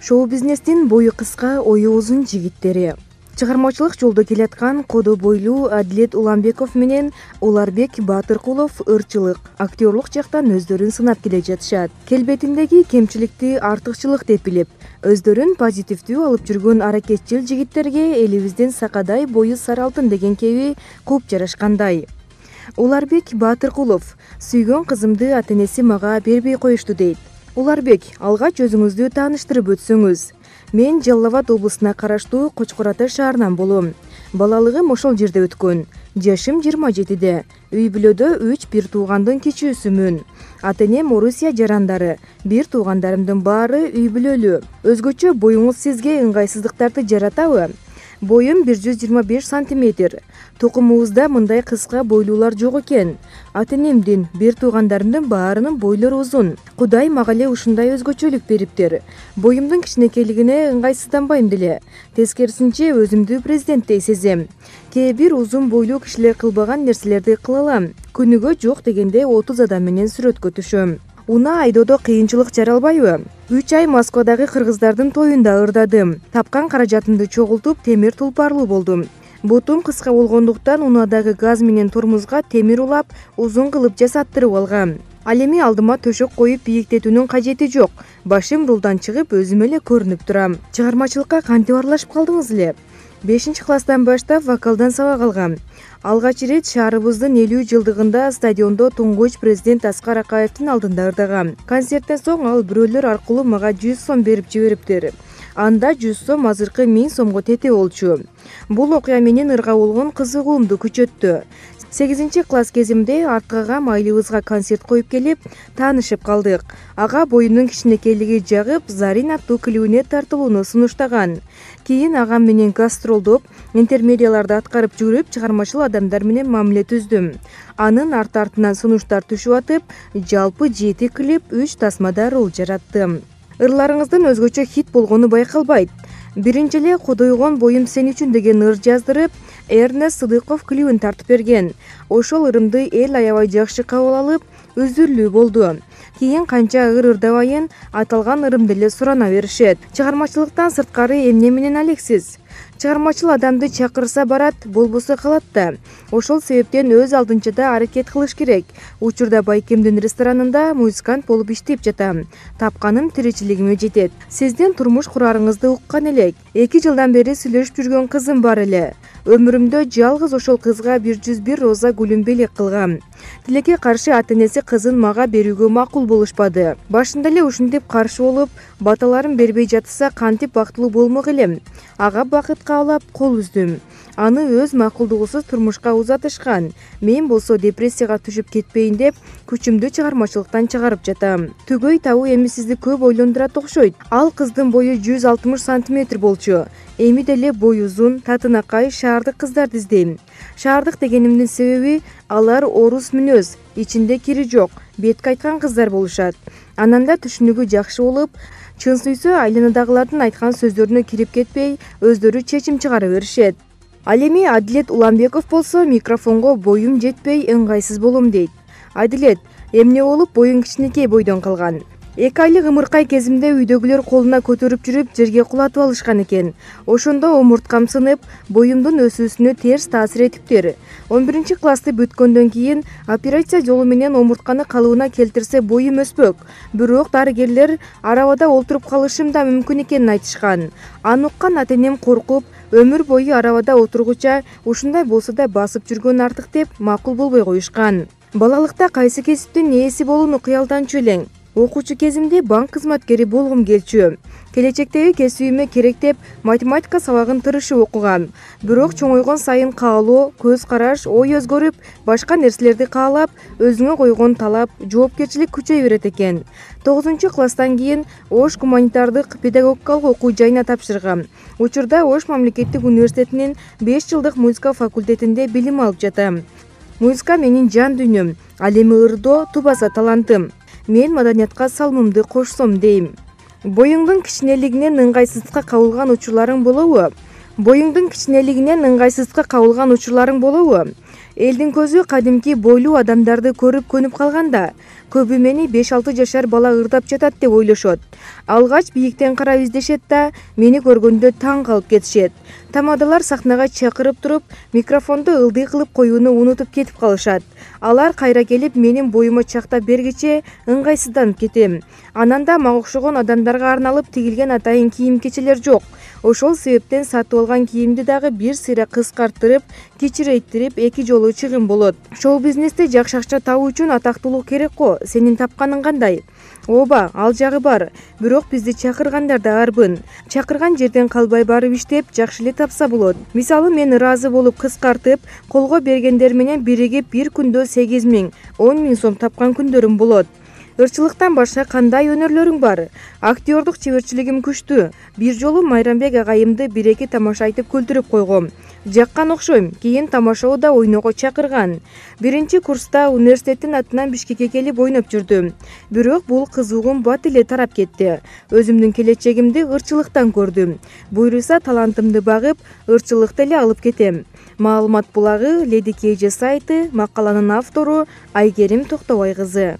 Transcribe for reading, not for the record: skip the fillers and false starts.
Шоу-бизнестин бою кыска, ою узун жигиттери. Чыгармачылык жолдо келаткан кодо бойлуу Адилет Уламбеков менен Уларбек Батыркулов ырчылык, актерлук жактан өздөрүн сынап келе жатышат. Келбетиндеги кемчиликти артыкчылык деп билип, өздөрүн позитивдүү алып жүргөн аракетчил жигиттерге элибиздин Сакадай бою сары алтын деген кеби куп жарашкандай. Уларбек Батыркулов: сүйгөн кызымды ата-энеси мага бербей коюшту дейт. Уларбек, алгач өзүңүздү тааныштырып өтсөңүз. Мен Жалал Абад облусуна караштуу Кочкор Ата шаарынан болом. Балалыгым ошол жерде өткөн. Жашым 27-де. Үй бүлөдө 3 бир туугандын кичүүсүмүн. Ата-энем Орусия жарандары. Бир туугандарымдын баары үй бүлөлүү. Өзгөчө боюңуз сизге ыңгайсыздыктарды жаратабы? Боюм 125 сантиметр. Токумубузда мындай кыска бойлуулар жок экен. Ата-энемдин, бир туугандарымдын баарынын бойлору узун. Кудай мага эле ушундай өзгөчөлүк бериптир. Боюмдун кичинекейлигине ыңгайсызданбайм деле. Тескерисинче өзүмдү президенттей сезем. Кээ бир узун бойлуу кишилер кылбаган нерселерди кыла алам. Күнүгө жок дегенде 30 адам менен сүрөткө түшөм. Унаа айдоодо кыйынчылык жаралбайбы? 3 ай Москвадагы кыргыздардын тоюнда ырдадым. Тапкан каражатымды чогултуп, темир тулпарлуу болдум. Бутум кыска болгондуктан унаадагы газ менен тормузга темир улап, узун кылып жасаттырып алгам. Ал эми алдыма төшөк коюп бийиктетүүнүн кажети жок. Башым рулдан чыгып, өзүм эле көрүнүп турам. Чыгармачылыкка кантип аралашып калдыңыз эле? 5-класстан баштап вокалдан сабак алгам. Алгач ирет шаарыбыздын 50 жылдыгында стадиондо туңгуч президент Аскар Акаевдин алдында ырдагам. Концерттен соң ал бирөөлөр аркылуу мага 100 сом берип жибериптир. Анда 100 сом азыркы 1000 сомго тете болчу. Бул окуя менин ырга болгон кызыгуумду күчөттү. 8-класс кезимде арткагам айлыбызга концерт коюп келип, таанышып калдык. Ага боюмдун кичинекейлиги жагып, Зарин аттуу клибине тартылууну сунуштаган. Кийин агам менен гастролдоп, интермедияларды аткарып жүрүп, чыгармачыл адамдар менен мамиле түздүм. Анын арт-артынан сунуштар түшүп атып, жалпы 7 клип, 3 тасмада рол жараттым. Ырларыңыздын өзгөчө хит болгону байкалбайт. Биринчи эле Кудойгон боюм сен үчүн деген ыр жаздырып, Эрнест Сыдыков клибин тартып берген. Ошол ырымды эл аябай жакшы кабыл алып, үзүрлүү болду. Кийин канча ыр ырдабайын, аталган ырымды эле сурана беришет. Чыгармачылыктан сырткары эмне менен алексиз? Чыгармачыл адамды чакырса барат, болбосо калат да. Ошол себептен өз алдынча аракет кылыш керек. Учурда Байкемдин ресторанында музыкант болуп иштеп жатам. Тапканым тиричилигиме жетет. Сиздин турмуш курарыңызды уккан элек. 2 жылдан бери сүйлөшүп жүргөн кызым бар эле. Өмүрүмдө жалгыз ошол кызга 101 роза гүлүн белек кылгам. Тилекке каршы ата-энеси кызын мага берүүгө макул болушпады. Башында эле ушинтип каршы болуп, баталарын бербей жатса кантип бактылуу болмок элем. Ага бакыт каалап кол үздүм. Аны өз макулдугусуз турмушка узатышкан. Мен болсо депрессияга түшүп кетпейин деп, күчүмдү чыгармачылыктан чыгарып жатам. Түгөй табуу эми сизди көп ойлондурат окшойт. Ал кыздын бою 160 сантиметр болчу. Эми деле бой узун, татынакай шаардык кыздарды издейм. Шаардык дегенимдин себеби алар орус мүнөз, ичинде кири жок, бетке айткан кыздар болушат. Анан да түшүнүгү жакшы болуп, чын сүйсө айланадагылардын айткан сөздөрүнө кирип кетпей, өздөрү чечим чыгара беришет. Ал эми Адилет Уламбеков болсо микрофонго боюм жетпей ыңгайсыз болом дейт. Адилет, эмне болуп боюң кичинекей бойдон калган? 2 айлык ымыркай кезимде үйдөгүлөр колуна көтөрүп жүрүп жерге кулатып алышкан экен. Ошондо омурткам сынып, боюмдун өсүүсүнө терс таасир этиптир. 11-классты бүткөндөн кийин операция жолу менен омуртканы калыбына келтирсе боюм өспөк. Бирок дарыгерлер арабада олтуруп калышым да мүмкүн экенин айтышкан. Аны уккан ата-энем коркуп, өмүр бою арабада отургуча ушундай болсо да басып жүргөн артык деп макул болбой коюшкан. Балалыкта кайсы кесиптин ээси болууну кыялданчу элең. Окуучу кезимде банк кызматкери болгум келчү. Келечектеги кесибиме керек деп математика сабагын тырышып окугам. Бирок чоңойгон сайын каалоо, көз караш, ой өзгөрүп, башка нерселерди каалап, өзүңө койгон талап, жоопкерчилик күчөй берет экен. 9-класстан кийин Ош гуманитардык педагогикалык окуу жайына тапшыргам. Учурда Ош мамлекеттик университетинин 5 жылдык музыка факультетинде билим алып жатам. Музыка менин жан дүйнөм, ал эми ырдоо тубаса талантым. Мен маданиятка салымымды кошсом дейм. Боюңдун кичинелигинен ыңгайсыздыкка кабылган учурларың болобу? Элдин көзү кадимки бойлуу адамдарды көрүп көнүп калганда, көбү мени 5-6 жашар бала ырдап жатат деп ойлошот. Алгач бийиктен карап издешет да, мени көргөндө таң калып кетишет. Тамадалар сахнага чакырып туруп, микрофонду ылдый кылып коюуну унутуп кетип калышат. Алар кайра келип менин боюма чактап бергиче ыңгайсызданып кетем. Анан да мага окшогон адамдарга арналып тигилген атайын кийим-кечелер жок. Ошол себептен сатып алган кийимди дагы бир сыйра кыскарттырып, кичирейттирип эки жолу чыгым болот. Шоу-бизнесте жакшы акча табуу үчүн атактуулук керек го. Сенин тапканың кандай? Ооба, ал жагы бар. Бирок бизди чакыргандар да арбын. Чакырган жерден калбай барып иштеп, жакшы эле тапса болот. Мисалы, мен ыраазы болуп кыскартып, колго бергендер менен биригип бир күндө 8 000, 10 000 сом тапкан күндөрүм болот. Ырчылыктан башка кандай өнөрлөрүң бар? Актёрдук чеберчилигим күчтүү. Бир жолу Майрамбек агайымды 1-2 тамаша айтып күлдүрүп койгом. Жаккан окшойм. Кийин тамашоодо ойноого чакырган. Биринчи курста университеттин атынан Бишкекке келип ойноп жүрдүм. Бирок бул кызыгуум бат эле тарап кетти. Өзүмдүн келечегимди ырчылыктан көрдүм. Буйруса талантымды багып, ырчылыкты эле алып кетем. Маалымат булагы, Леди KJ сайты, макаланын автору Айгерим Токтобай кызы.